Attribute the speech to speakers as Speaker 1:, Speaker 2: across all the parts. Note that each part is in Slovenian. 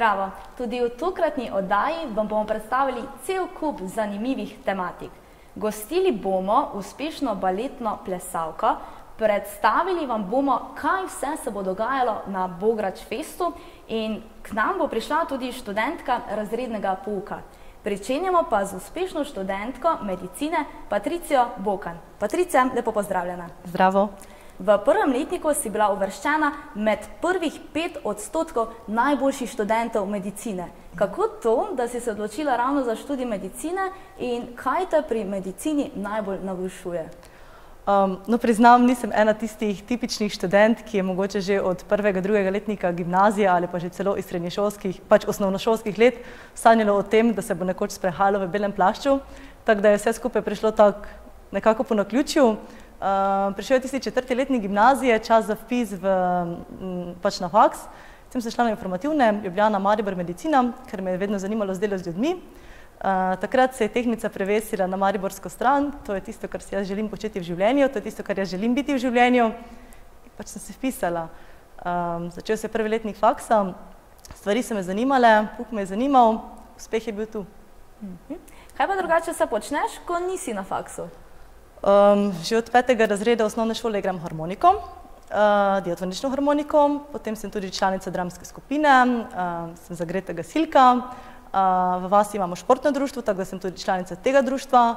Speaker 1: Zdravo! Tudi v tokratni oddaji vam bomo predstavili cel kup zanimivih tematik. Gostili bomo uspešno baletno plesalko, predstavili vam bomo, kaj vse se bo dogajalo na Bograč festu in k nam bo prišla tudi študentka razrednega pouka. Pričenjamo pa z uspešno študentko medicine Patricijo Bokan. Patricija, lepo pozdravljena.
Speaker 2: Zdravo.
Speaker 1: V prvem letniku si bila uvrščena med prvih 5% najboljših študentov medicine. Kako to, da si se odločila ravno za študij medicine in kaj te pri medicini najbolj navdušuje?
Speaker 2: No, priznam, nisem ena tistih tipičnih študent, ki je mogoče že od prvega, drugega letnika gimnazije ali pa že celo iz srednješolskih, pač osnovnošolskih let sanjalo o tem, da se bo nekoč sprehajalo v belem plašču, tako da je vse skupaj prišlo tako nekako po naključju. Prišel je tisti 4. letnik gimnazije, čas za vpis pač na faks. Sem se šla na informativne, Ljubljana, Maribor, medicina, ker me je vedno zanimalo z delo z ljudmi. Takrat se je tehnica prevesila na mariborsko stran, to je tisto, kar si jaz želim početi v življenju, to je tisto, kar jaz želim biti v življenju. Pač sem se vpisala. Začel se je prvi letnik faksa, stvari so me zanimale, pouk me je zanimal, uspeh je bil tu.
Speaker 1: Kaj pa drugače se počneš, ko nisi na faksu?
Speaker 2: Že od 5. razreda osnovne šole igram harmoniko, diatonično harmoniko, potem sem tudi članica dramske skupine, sem zagreta gasilka, v vasi imamo športno društvo, tako da sem tudi članica tega društva,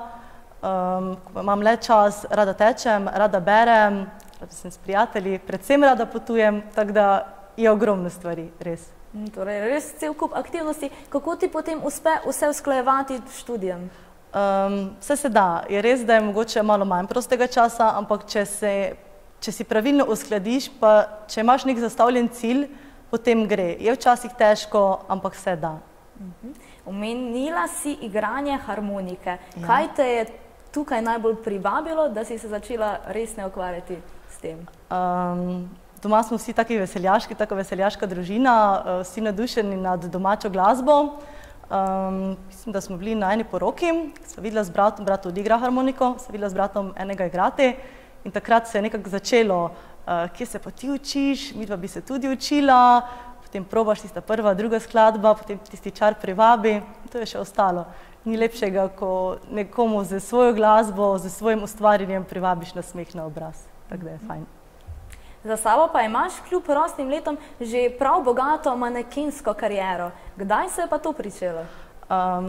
Speaker 2: ko imam le čas, rada tečem, rada berem, rada sem s prijatelji, predvsem rada potujem, tako da je ogromno stvari, res.
Speaker 1: Torej, res cel kup aktivnosti. Kako ti potem uspe vse usklajevati s študijem?
Speaker 2: Vse se da. Je res, da je mogoče malo manj prostega časa, ampak če si pravilno uskladiš, pa če imaš nek zastavljen cilj, potem gre. Je včasih težko, ampak vse da.
Speaker 1: Omenila si igranje harmonike. Kaj te je tukaj najbolj privabilo, da si se začela resne ukvarjati s tem?
Speaker 2: Doma smo vsi taki veseljaški, tako veseljaška družina, vsi nadušeni nad domačo glasbo. Mislim, da smo bili na eni poroki, sva videla z bratom, brat odigra harmoniko, sva videla z bratom enega igrati in takrat se je nekako začelo, kje se pa ti učiš, midva bi se tudi učila, potem probaš tista prva, druga skladba, potem tisti čar privabi in to je še ostalo. Ni lepšega, ko nekomu z svojo glasbo, z svojim ustvarjanjem privabiš nasmeh na obraz, tako da je fajn.
Speaker 1: Za sabo pa imaš kljub rosnim letom že prav bogato manekensko kariero. Kdaj se je pa to pričelo?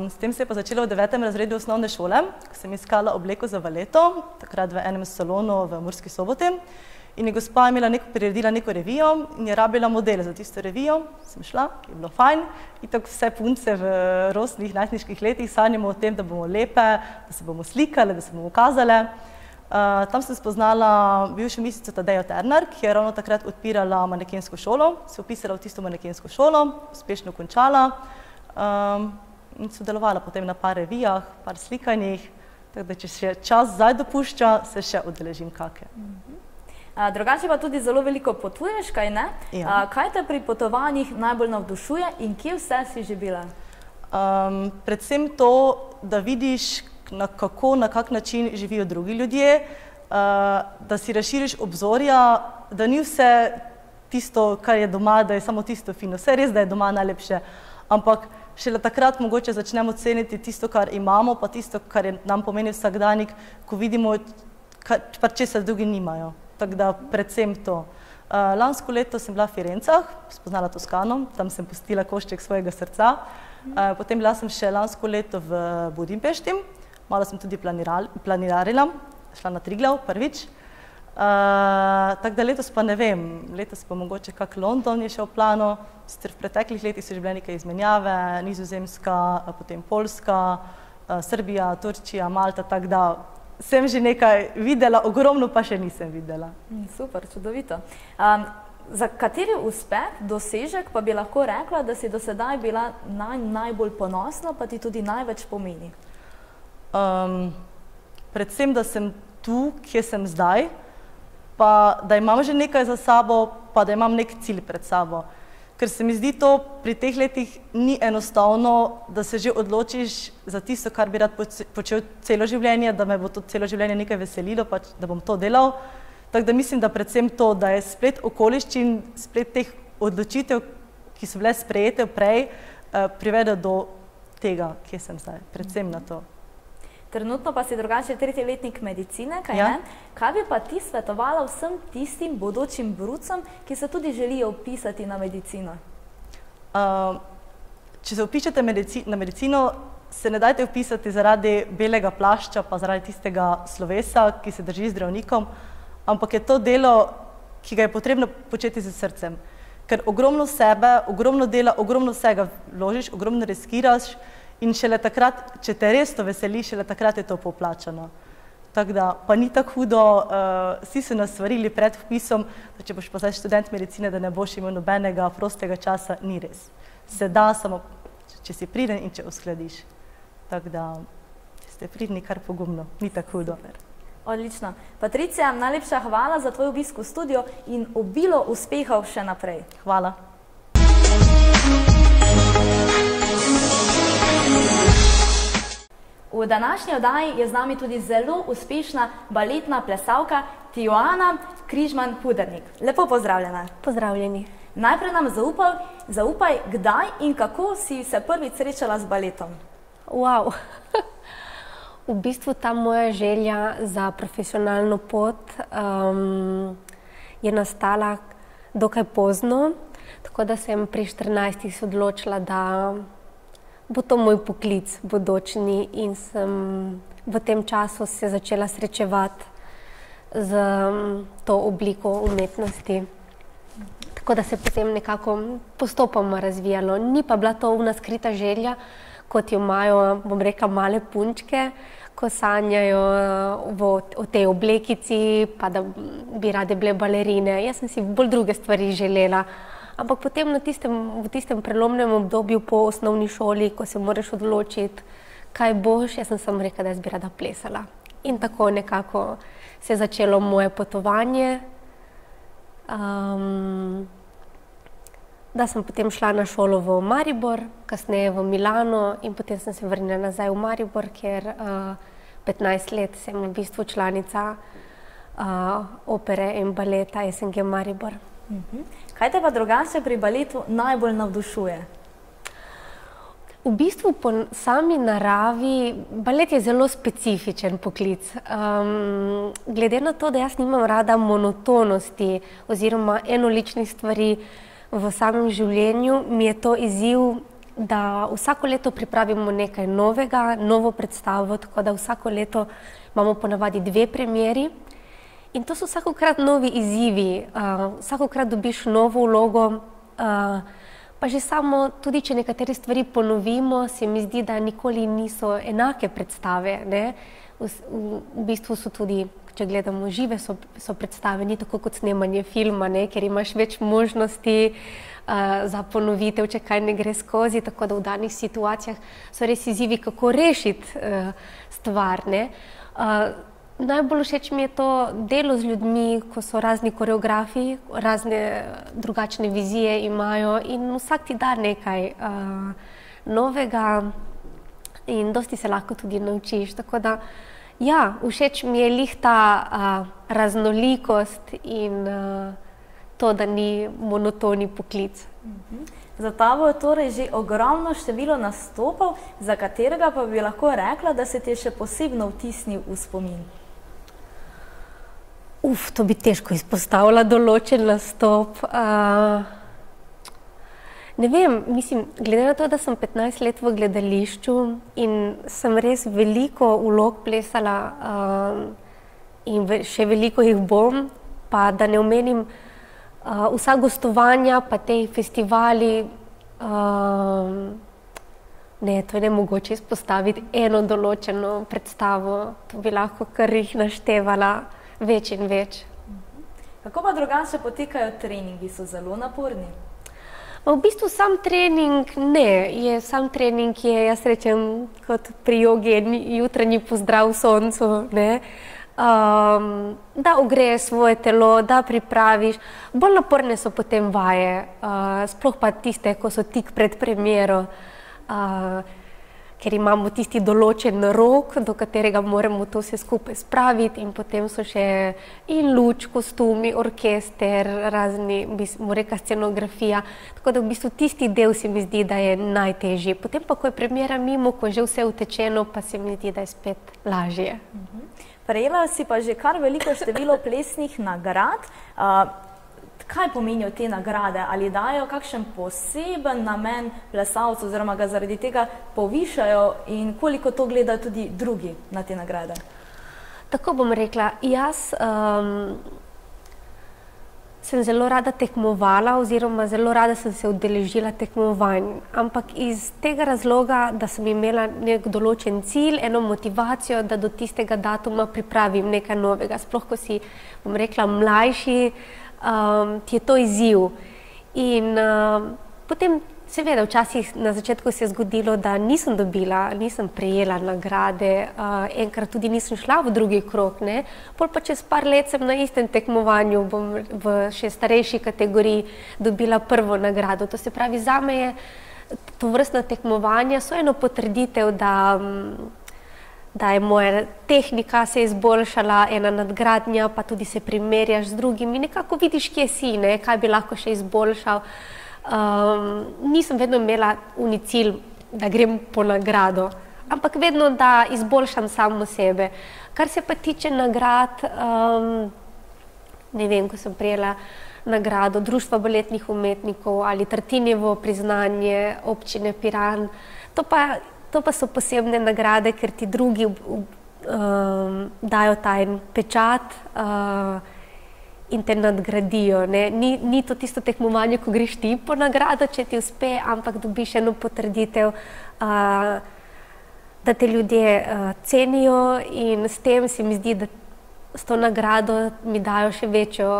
Speaker 2: S tem se je pa začelo v 9. razredu osnovne šole, ko sem iskala obleko za valeto, takrat v enem salonu v Murski Soboti. In je gospa priredila neko revijo in je rabila modele za tisto revijo. Sem šla, je bilo fajn. In tako vse punce v rosnih, najstniških letih sanjamo o tem, da bomo lepe, da se bomo slikale, da se bomo ukazale. Tam sem spoznala bivšo mistrico Tadejo Ternar, ki je ravno takrat odpirala manekensko šolo, se vpisala v tisto manekensko šolo, uspešno končala in sodelovala potem na par revijah, par slikanjih, tako da če še čas zdaj dopušča, se še udeležim kake.
Speaker 1: Drugače pa tudi zelo veliko potuješ, kaj ne? Kaj te pri potovanjih najbolj navdušuje in kje vse si že bila?
Speaker 2: Predvsem to, da vidiš, na kak način živijo drugi ljudje, da si razširiš obzorja, da ni vse tisto, kar je doma, da je samo tisto fino. Vse res, da je doma najlepše, ampak šele takrat mogoče začnemo ceniti tisto, kar imamo, pa tisto, kar nam pomeni vsakdanjik, ko vidimo, česa drugi nimajo. Tako da predvsem to. Lansko leto sem bila v Firencah, spoznala Toskano, tam sem pustila košček svojega srca. Potem bila sem še lansko leto v Budimpešti, malo sem tudi planirarila, šla na Triglav prvič. Tako da letos pa ne vem, letos pa mogoče kak London je še v planu, sicer v preteklih letih so že bile nekaj izmenjave, Nizozemska, potem Poljska, Srbija, Turčija, Malta, tako da sem že nekaj videla, ogromno pa še nisem videla.
Speaker 1: Super, čudovito. Za kateri uspeh, dosežek pa bi lahko rekla, da si do sedaj bila najbolj ponosna, pa ti tudi največ pomeni?
Speaker 2: Predvsem, da sem tu, kje sem zdaj, pa da imam že nekaj za sabo, pa da imam nek cilj pred sabo. Ker se mi zdi to pri teh letih ni enostavno, da se že odločiš za tisto, kar bi rad počel celo življenje, da me bo to celo življenje nekaj veselilo, pač da bom to delal. Tako da mislim, da predvsem to, da je splet okoliščin, splet teh odločitev, ki so bile sprejete prej, privede do tega, kje sem zdaj, predvsem na to.
Speaker 1: Trenutno pa si drugače tretji letnik medicine, kaj
Speaker 2: Ja.
Speaker 1: ne? Kaj bi pa ti svetovala vsem tistim bodočim brucem, ki se tudi želijo vpisati na medicino?
Speaker 2: Če se vpišete na medicino, se ne dajte vpisati zaradi belega plašča, pa zaradi tistega slovesa, ki se drži zdravnikom, ampak je to delo, ki ga je potrebno početi z srcem. Ker ogromno sebe, ogromno dela, ogromno vsega vložiš, ogromno riskiraš in šele takrat, če te res to veseli, šele takrat je to poplačano. Tako da, pa ni tako hudo, vsi so nas svarili pred vpisom, da če boš pa zdaj študent medicine, da ne boš imel nobenega prostega časa, ni res. Se da, samo če si priden in če uskladiš. Tako da, če ste pridni, kar pogumno, ni tako hudo.
Speaker 1: Odlično. Patricija, najlepša hvala za tvoj obisk v studio in obilo uspehov še naprej.
Speaker 2: Hvala.
Speaker 1: V današnji oddaji je z nami tudi zelo uspešna baletna plesalka Tijuana Križman-Pudernik. Lepo pozdravljena.
Speaker 3: Pozdravljeni.
Speaker 1: Najprej nam zaupaj, kdaj in kako si se prvič srečala z baletom.
Speaker 3: Wow. V bistvu ta moja želja za profesionalno pot je nastala dokaj pozno, tako da sem pri 14 se odločila, da bo to moj poklic bodočni in sem v tem času se začela srečevati z to obliko umetnosti. Tako da se potem nekako postopoma razvijalo. Ni pa bila to ona skrita želja, kot jo imajo, bom rekla, male punčke, ko sanjajo o tej oblekici, pa da bi rade bile balerine. Jaz sem si bolj druge stvari želela. Ampak potem v tistem prelomnem obdobju po osnovni šoli, ko se moraš odločiti, kaj boš, jaz sem samo rekla, da jaz bi rada plesala. In tako nekako se je začelo moje potovanje. Da sem potem šla na šolo v Maribor, kasneje v Milano in potem sem se vrnila nazaj v Maribor, ker 15 let sem v bistvu članica opere in baleta SNG Maribor.
Speaker 1: Kaj te pa drugače pri baletu najbolj navdušuje?
Speaker 3: V bistvu po sami naravi, balet je zelo specifičen poklic. Glede na to, da jaz nimam rada monotonosti oziroma enoličnih stvari v samem življenju, mi je to izziv, da vsako leto pripravimo nekaj novega, novo predstavo, tako da vsako leto imamo ponavadi 2 premieri. In to so vsakokrat novi izzivi, vsakokrat dobiš novo vlogo, pa že samo, tudi če nekatere stvari ponovimo, se mi zdi, da nikoli niso enake predstave, ne? V bistvu so tudi, če gledamo žive, so predstave, ni tako kot snemanje filma, ne? Ker imaš več možnosti za ponovitev, če kaj ne gre skozi, tako da v danih situacijah so res izzivi, kako rešiti stvar, ne? Najbolj všeč mi je to delo z ljudmi, ko so razni koreografi, razne drugačne vizije imajo in vsak ti da nekaj novega in dosti se lahko tudi naučiš. Tako da, ja, všeč mi je lih ta raznolikost in to, da ni monotoni poklic.
Speaker 1: Za tabo je torej že ogromno število nastopov, za katerega pa bi lahko rekla, da se ti je še posebno vtisnil v spomin.
Speaker 3: To bi težko izpostavila določen nastop. Ne vem, mislim, glede na to, da sem 15 let v gledališču in sem res veliko vlog plesala in še veliko jih bom, pa da ne omenim vsa gostovanja, pa te festivali, ne, to je nemogoče izpostaviti eno določeno predstavo, to bi lahko kar jih naštevala. Več in več.
Speaker 1: Kako pa drugače potekajo treningi? So zelo naporni?
Speaker 3: V bistvu sam trening ne. Sam trening je, jaz rečem, kot pri jogi, jutranji pozdrav soncu, ne. Da ogreješ svoje telo, da pripraviš. Bolj naporne so potem vaje, sploh pa tiste, ko so tik pred premiero. ker imamo tisti določen rok, do katerega moramo to vse skupaj spraviti in potem so še in luč, kostumi, orkester, razni, bomo rekla, scenografija. Tako da v bistvu tisti del se mi zdi, da je najtežji. Potem pa, ko je premiera mimo, ko je že vse utečeno, pa se mi zdi, da je spet lažje.
Speaker 1: Prejela si pa že kar veliko število plesnih nagrad. Kaj pomenijo te nagrade? Ali dajo kakšen poseben namen plesalcu oziroma ga zaradi tega povišajo in koliko to gledajo tudi drugi na te nagrade?
Speaker 3: Tako bom rekla, jaz sem zelo rada tekmovala oziroma zelo rada sem se udeležila tekmovanj, ampak iz tega razloga, da sem imela nek določen cilj, eno motivacijo, da do tistega datuma pripravim nekaj novega. Sploh, ko si, bom rekla, mlajši, ti je to izziv. In potem, seveda, včasih na začetku se je zgodilo, da nisem prejela nagrade, enkrat tudi nisem šla v drugi krog, ne. Pol pa čez par let sem na istem tekmovanju, bom v še starejši kategoriji dobila prvo nagrado. To se pravi, zame je tovrstna tekmovanja so eno potrditev, da je moja tehnika se izboljšala, ena nadgradnja, pa tudi se primerjaš z drugimi, nekako vidiš, kje si, ne, kaj bi lahko še izboljšal. Nisem vedno imela uni cilj, da grem po nagrado, ampak vedno, da izboljšam samo sebe. Kar se pa tiče nagrad, ne vem, ko sem prejela nagrado Društva baletnih umetnikov ali Tartinijevo priznanje občine Piran, to pa so posebne nagrade, ker ti drugi dajo ta en pečat in te nadgradijo, ne. Ni to tisto tekmovanje, ko greš ti po nagrado, če ti uspe, ampak dobiš eno potrditev, da te ljudje cenijo in s tem se mi zdi, da s to nagrado mi dajo še večjo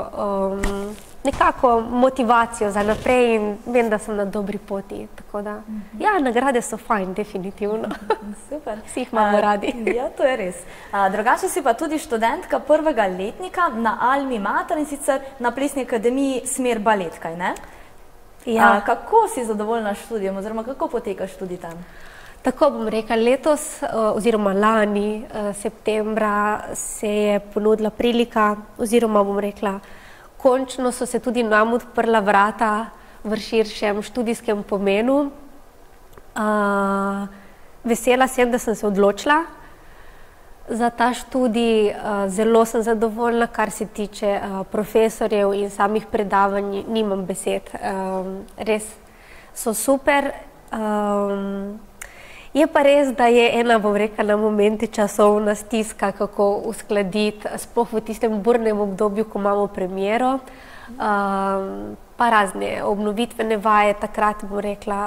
Speaker 3: nekako motivacijo za naprej in vem, da sem na dobri poti. Tako da, ja, nagrade so fajn, definitivno.
Speaker 1: Super.
Speaker 3: Vsi jih imamo radi.
Speaker 1: Ja, to je res. Drugače si pa tudi študentka prvega letnika na Almi Mater in sicer na Plesni akademiji smer balet, kaj ne?
Speaker 3: Ja.
Speaker 1: Kako si zadovoljna s študijem oziroma kako poteka študij tam?
Speaker 3: Tako bom rekla, letos oziroma lani septembra se je ponudila prilika oziroma bom rekla, končno so se tudi nam odprla vrata v širšem študijskem pomenu. Vesela sem, da sem se odločila za ta študij. Zelo sem zadovoljna, kar se tiče profesorjev in samih predavanj, nimam besed. Res so super. Je pa res, da je ena, bom rekla, na momente časovna stiska, kako uskladiti, sploh v tistem burnem obdobju, ko imamo premiero, pa razne obnovitvene vaje, takrat, bom rekla,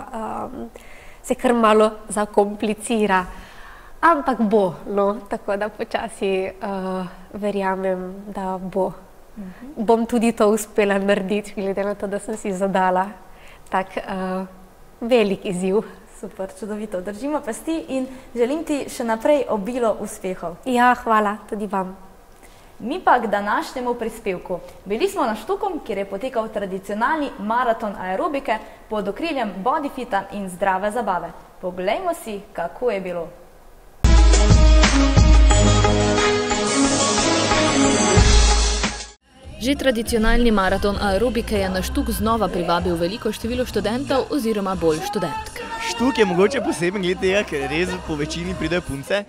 Speaker 3: se kar malo zakomplicira. Ampak bo, no, tako da počasi verjamem, da bo. Bom tudi to uspela narediti, glede na to, da sem si zadala tak velik izziv.
Speaker 1: Super, čudovito. Držimo pesti in želim ti še naprej obilo uspehov.
Speaker 3: Ja, hvala, tudi vam.
Speaker 1: Mi pa k današnjemu prispevku. Bili smo na Štukom, kjer je potekal tradicionalni maraton aerobike pod okriljem Bodyfita in zdrave zabave. Poglejmo si, kako je bilo.
Speaker 4: Že tradicionalni maraton aerobike je na Štuk znova privabil veliko število študentov oziroma bolj študentk.
Speaker 5: Štuk je mogoče poseben glede tega, ker res po večini pridejo punce.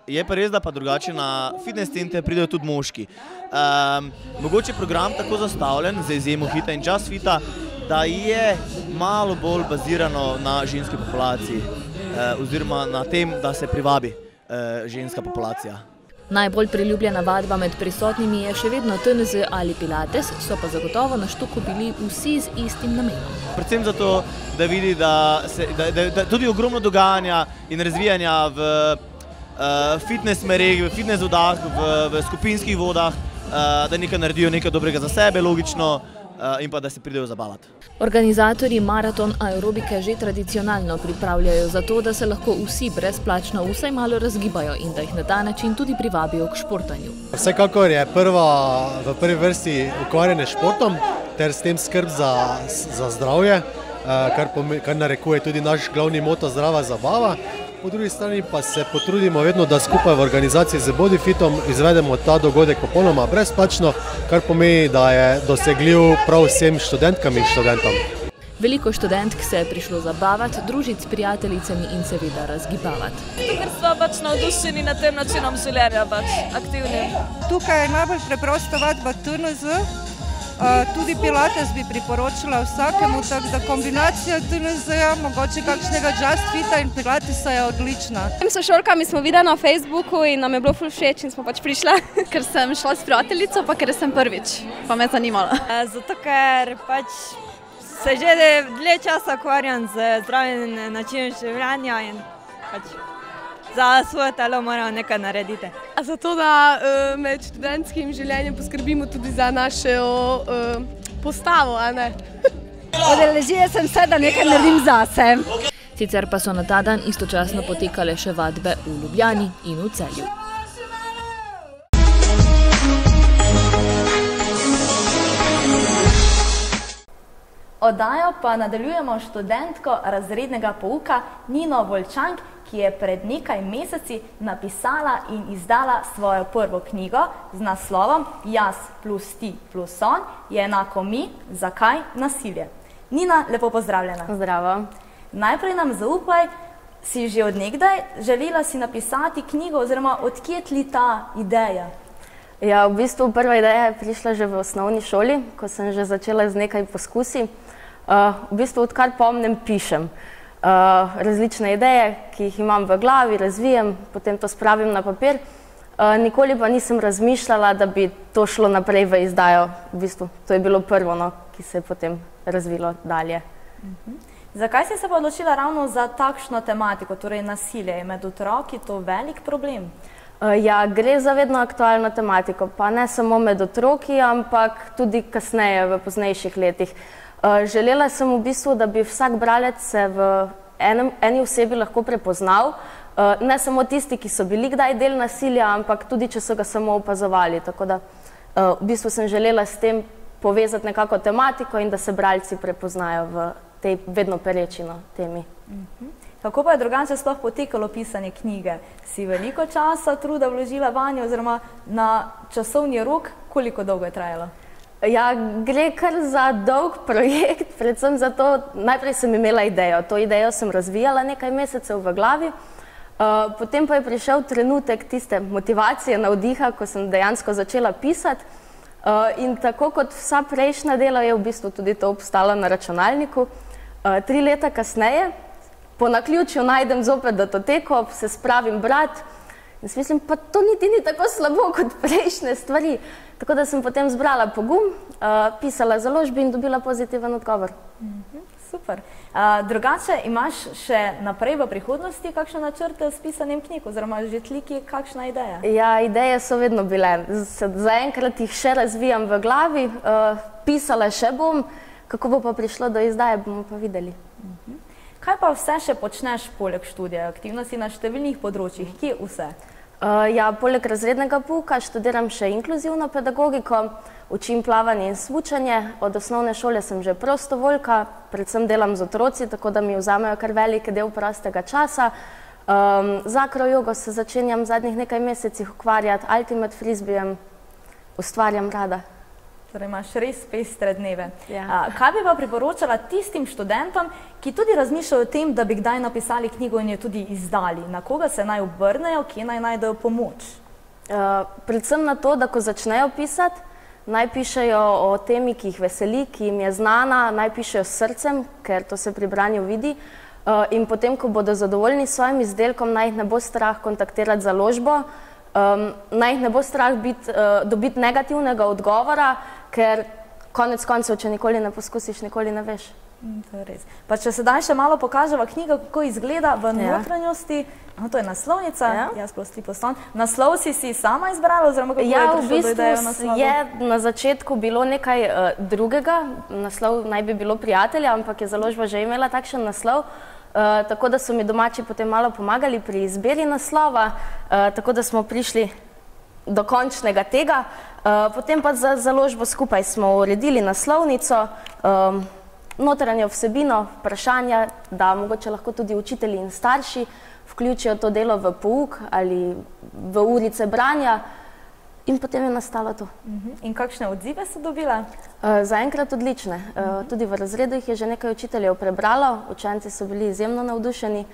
Speaker 5: Je pa res, da pa drugače na fitness center pridejo tudi moški. Mogoče program tako zastavljen, za izjemo Hita in Just Fita, da je malo bolj bazirano na ženski populaciji oziroma na tem, da se privabi ženska populacija.
Speaker 4: Najbolj priljubljena vadba med prisotnimi je še vedno TNZ ali Pilates, so pa zagotovo na Štuku bili vsi z istim namenom.
Speaker 5: Predvsem zato, da vidi, da tudi ogromno dogajanja in razvijanja v fitness smereh, v fitness vodah, v skupinskih vodah, da nekaj naredijo nekaj dobrega za sebe, logično, in pa da se pridejo zabavati.
Speaker 4: Organizatorji maraton aerobike že tradicionalno pripravljajo za to, da se lahko vsi brezplačno vsaj malo razgibajo in da jih na ta način tudi privabijo k športanju.
Speaker 6: Vsekakor je v prvi vrsti ukvarjanje s športom ter s tem skrb za zdravje. kar narekuje tudi naš glavni moto zdrava zabava. Po drugi strani pa se potrudimo vedno, da skupaj v organizaciji z Bodyfitom izvedemo ta dogodek popolnoma brezplačno, kar pomeni, da je dosegljiv prav vsem študentkam in študentom.
Speaker 4: Veliko študentk se je prišlo zabavati, družiti s prijateljicami in seveda razgibavati.
Speaker 7: Ker smo pač navdušeni nad tem načinom življenja, pač aktivnim.
Speaker 8: Tukaj je najbolj preprosto vadba TNZ, tudi pilates bi priporočila vsakemu, tako da kombinacija TNZ-ja, mogoče kakšnega Just Fita in pilatesa je odlična.
Speaker 9: S sošolkami smo videli na Facebooku in nam je bilo ful všeč in smo pač prišla.
Speaker 10: Ker sem šla s prijateljico, pa ker sem prvič, pa me je zanimalo.
Speaker 11: Zato ker pač se že dlje časa ukvarjam z zdravim načinom življenja in pač za svoje telo moram nekaj narediti.
Speaker 12: Zato, da med študentskim življenjem poskrbimo tudi za našo postavo, a ne?
Speaker 13: Odeležila sem se, da nekaj naredim zase.
Speaker 4: Sicer pa so na ta dan istočasno potekale še vadbe v Ljubljani in v Celju.
Speaker 1: Oddajo pa nadaljujemo študentko razrednega pouka Nino Volčank, ki je pred nekaj meseci napisala in izdala svojo prvo knjigo z naslovom Jaz plus ti plus on je enako mi, zakaj nasilje. Nina, lepo pozdravljena.
Speaker 14: Zdravo.
Speaker 1: Najprej nam zaupaj, si že od nekdaj želela si napisati knjigo oziroma odkje tli ta ideja?
Speaker 14: Ja, v bistvu prva ideja je prišla že v osnovni šoli, ko sem že začela z nekaj poskusi. V bistvu odkar pomnim pišem. Različne ideje, ki jih imam v glavi, razvijem, potem to spravim na papir. Nikoli pa nisem razmišljala, da bi to šlo naprej v izdajo. V bistvu to je bilo prvo, ki se je potem razvilo dalje.
Speaker 1: Zakaj si se pa odločila ravno za takšno tematiko, torej nasilje? Je med otroki to velik problem?
Speaker 14: Ja, gre za vedno aktualno tematiko, pa ne samo med otroki, ampak tudi kasneje, v poznejših letih. Želela sem v bistvu, da bi vsak bralec se v eni osebi lahko prepoznal, ne samo tisti, ki so bili kdaj del nasilja, ampak tudi, če so ga samo opazovali. Tako da v bistvu sem želela s tem povezati nekako tematiko in da se bralci prepoznajo v tej vedno pereči temi.
Speaker 1: Kako pa je drugače sploh potekalo pisanje knjige? Si veliko časa, truda vložila vanjo oziroma na časovni rok, koliko dolgo je trajalo?
Speaker 14: Ja, gre kar za dolg projekt, predvsem zato, najprej sem imela idejo. To idejo sem razvijala nekaj mesecev v glavi, potem pa je prišel trenutek tiste motivacije, navdiha, ko sem dejansko začela pisati. In tako kot vsa prejšnja dela je v bistvu tudi to obstalo na računalniku. 3 leta kasneje, po naključju najdem zopet datoteko, se spravim brati in si mislim, pa to niti ni tako slabo kot prejšnje stvari. Tako da sem potem zbrala pogum, pisala založbi in dobila pozitiven odgovor.
Speaker 1: Super. Drugače, imaš še naprej v prihodnosti kakšne načrte s pisanjem knjig oziroma že tliki kakšna ideja?
Speaker 14: Ja, ideje so vedno bile. Zaenkrat jih še razvijam v glavi, pisala še bom, kako bo pa prišlo do izdaje, bomo pa videli.
Speaker 1: Kaj pa vse še počneš poleg študija? Aktivnosti na številnih področjih, kje vse?
Speaker 14: Ja, poleg razrednega pouka študiram še inkluzivno pedagogiko, učim plavanje in smučanje. Od osnovne šole sem že prostovoljka, predvsem delam z otroci, tako da mi vzamejo kar velik del prostega časa. Z akrojogo se začenjam v zadnjih nekaj mesecih ukvarjati, ultimate frisbeejem, ustvarjam rada.
Speaker 1: Torej imaš res pestre dneve. Kaj bi pa priporočala tistim študentom, ki tudi razmišljajo o tem, da bi kdaj napisali knjigo in jo tudi izdali? Na koga se naj obrnejo, kje naj najdejo pomoč?
Speaker 14: Predvsem na to, da ko začnejo pisati, naj pišejo o temi, ki jih veseli, ki jim je znana, naj pišejo s srcem, ker to se pri branju vidi. In potem, ko bodo zadovoljni s svojim izdelkom, naj jih ne bo strah kontaktirati založbo, naj jih ne bo strah dobiti negativnega odgovora, ker konec koncev, če nikoli ne poskusiš, nikoli ne veš.
Speaker 1: To je res. Pa če sedaj še malo pokaževa knjiga, kako izgleda v notranjosti, to je naslovnica, Jaz plus ti plus on. Naslov si sama izbrala oziroma kako je prišlo do ideje o naslovu?
Speaker 14: Ja, v bistvu je na začetku bilo nekaj drugega, naslov naj bi bilo Prijatelja, ampak je založba že imela takšen naslov, tako da so mi domači potem malo pomagali pri izbiri naslova, tako da smo prišli do končnega tega. Potem pa za založbo skupaj smo uredili naslovnico, notranjo vsebino, vprašanja, da mogoče lahko tudi učitelji in starši vključijo to delo v pouk ali v urice branja in potem je nastalo to.
Speaker 1: In kakšne odzive so dobile?
Speaker 14: Zaenkrat odlične. Tudi v razredu jih je že nekaj učiteljev prebralo, učenci so bili izjemno navdušeni,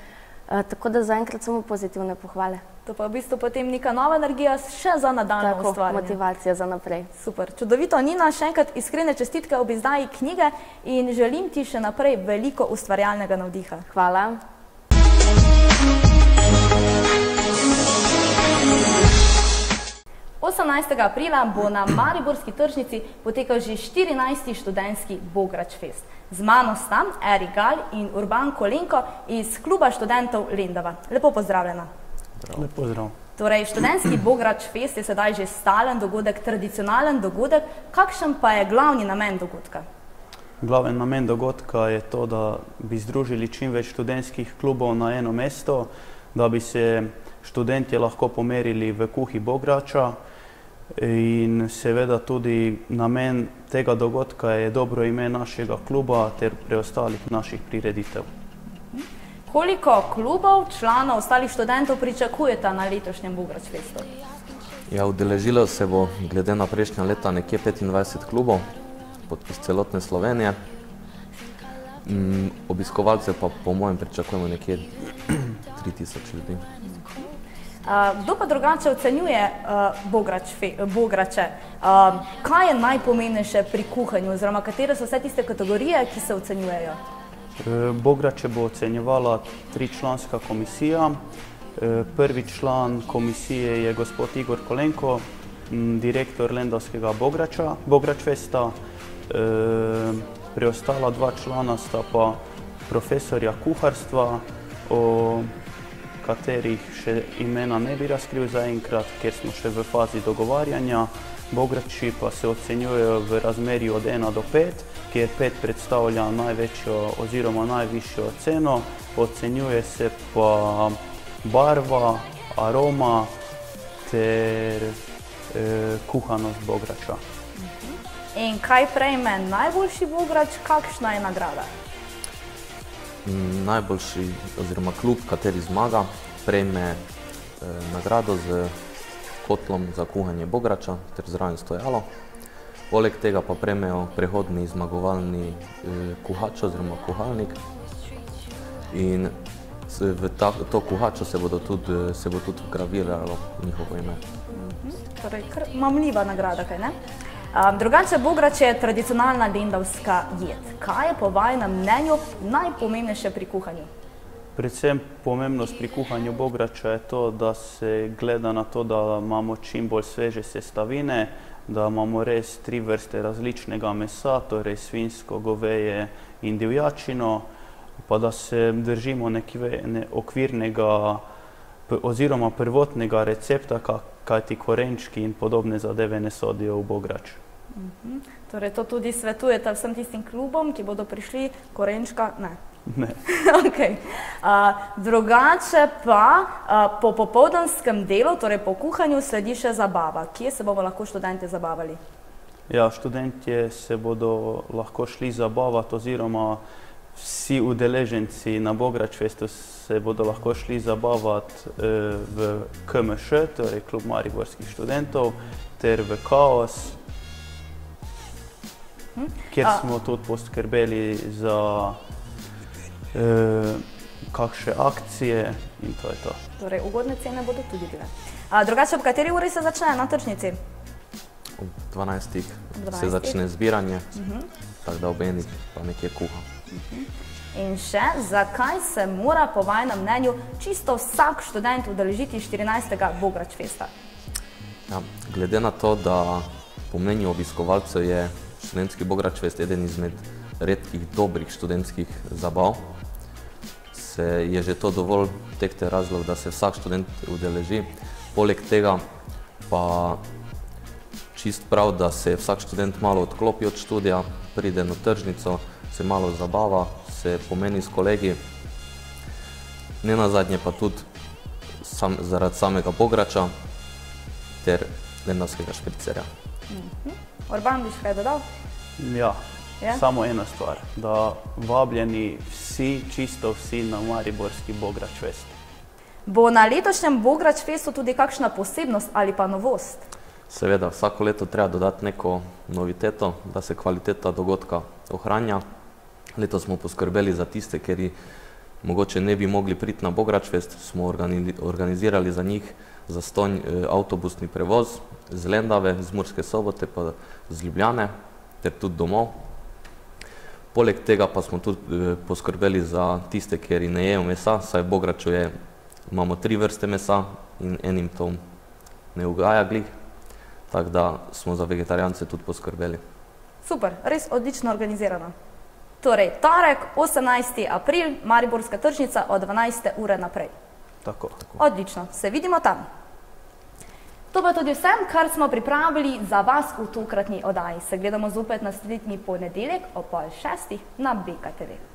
Speaker 14: tako da zaenkrat samo pozitivne pohvale.
Speaker 1: To pa v bistvu potem neka nova energija še za nadaljnje ustvarjanje.
Speaker 14: Motivacija za naprej.
Speaker 1: Super, čudovito. Nina, še enkrat iskrene čestitke ob izdaji knjige in želim ti še naprej veliko ustvarjalnega navdiha.
Speaker 14: Hvala.
Speaker 1: Aprila bo na mariborski tržnici potekal že 14. študentski Bograč Fest. Z mano sta Eri Gal in Urban Kolenko iz kluba študentov Lendava. Lepo pozdravljena.
Speaker 15: Lep pozdrav.
Speaker 1: Torej, študentski Bograč Fest je sedaj že stalen dogodek, tradicionalen dogodek. Kakšen pa je glavni namen dogodka?
Speaker 15: Glaven namen dogodka je to, da bi združili čim več študentskih klubov na eno mesto, da bi se študentje lahko pomerili v kuhi Bograča in seveda tudi namen tega dogodka je dobro ime našega kluba ter preostalih naših prireditev.
Speaker 1: Koliko klubov, članov, ostalih študentov pričakujete na letošnjem Bograč Festu?
Speaker 16: Ja, udeležilo se bo glede na prejšnja leta nekje 25 klubov iz celotne Slovenije. Obiskovalce pa po mojem pričakujemo nekje 3000 ljudi.
Speaker 1: Kdo pa drugače ocenjuje Bograče? Kaj je najpomembnejše pri kuhanju oziroma katere so vse tiste kategorije, ki se ocenjujejo?
Speaker 15: Bograče bo ocenjevala 3-članska komisija. Prvi član komisije je gospod Igor Kolenko, direktor Lendavskega Bograč Festa. Preostala 2 člana sta pa profesorja kuharstva, o katerih še imena ne bi razkril zaenkrat, ker smo še v fazi dogovarjanja. Bograči pa se ocenjujejo v razmerju od 1 do 5, kjer 5 predstavlja največjo oziroma najvišjo ceno. Ocenjuje se pa barva, aroma ter kuhanost Bograča.
Speaker 1: In kaj prejme najboljši Bograč, kakšna je nagrada?
Speaker 16: Najboljši oziroma klub, kateri zmaga, prejme nagrado z kotlom za kuhanje Bograča ter zraven stojalo. Poleg tega pa prejmejo prehodni zmagovalni kuhač oziroma kuhalnik in v to kuhačo se bo tudi vgraviralo njihovo ime.
Speaker 1: Torej, kar mamljiva nagrada, kaj ne? Drugače, Bograč je tradicionalna lendavska jed. Kaj je po vajinem mnenju najpomembnejše pri kuhanju?
Speaker 15: Predvsem pomembnost pri kuhanju Bograča je to, da se gleda na to, da imamo čim bolj sveže sestavine, da imamo res 3 vrste različnega mesa, torej svinjsko, goveje in divjačino, pa da se držimo okvirnega oziroma prvotnega recepta, kajti korenčki in podobne zadeve ne sodijo v Bograč.
Speaker 1: Torej, to tudi svetujete vsem tistim klubom, ki bodo prišli, korenčka? Ne.
Speaker 15: Ne.
Speaker 1: Drugače pa po popoldanskem delu, torej po kuhanju, sledi še zabava. Kje se bomo lahko študentje zabavali?
Speaker 15: Ja, študentje se bodo lahko šli zabavati oziroma vsi udeleženci na Bograč Festu se bodo lahko šli zabavati v KMŠ, torej klub mariborskih študentov, ter v Kaos, kjer smo tudi poskrbeli za kakšne akcije in to je to.
Speaker 1: Torej, ugodne cene bodo tudi bile. Drugače, ob kateri uri se začne na tržnici?
Speaker 16: Ob 12. se začne zbiranje, tako da ob 1. pa nekje kuha.
Speaker 1: In še, zakaj se mora po vajinem mnenju čisto vsak študent udeležiti 14. Bograč Festa?
Speaker 16: Ja, glede na to, da po mnenju obiskovalcev je študentski Bograč Fest eden izmed redkih dobrih študentskih zabav, je že to dovolj tehten razlog, da se vsak študent udeleži. Poleg tega pa čist prav, da se vsak študent malo odklopi od študija, pride na tržnico, se malo zabava, se pomeni s kolegi, ne nazadnje pa tudi zaradi samega Bograča ter lendavskega špricerja.
Speaker 1: Urban, biš kaj dodal?
Speaker 15: Ja, Samo ena stvar, da vabljeni vsi, čisto vsi na mariborski Bograč Fest.
Speaker 1: Bo na letošnjem Bograč Festu tudi kakšna posebnost ali pa novost?
Speaker 16: Seveda, vsako leto treba dodati neko noviteto, da se kvaliteta dogodka ohranja. Letos smo poskrbeli za tiste, ki mogoče ne bi mogli priti na Bograč Fest, smo organizirali za njih zastonj avtobusni prevoz z Lendave, z Murske Sobote pa z Ljubljane ter tudi domov. Poleg tega pa smo tudi poskrbeli za tiste, ki ne jejo mesa, saj v Bograču imamo 3 vrste mesa in enim to ne ugaja glih, tako da smo za vegetarijance tudi poskrbeli.
Speaker 1: Super, res odlično organizirano. Torej, torek, 18. april, Mariborska tržnica od 12. ure naprej.
Speaker 15: Tako.
Speaker 1: Odlično, se vidimo tam. To pa tudi vsem, kar smo pripravili za vas v tokratni oddaji. Se gledamo zopet naslednji ponedeljek ob 5:30 na BK TV.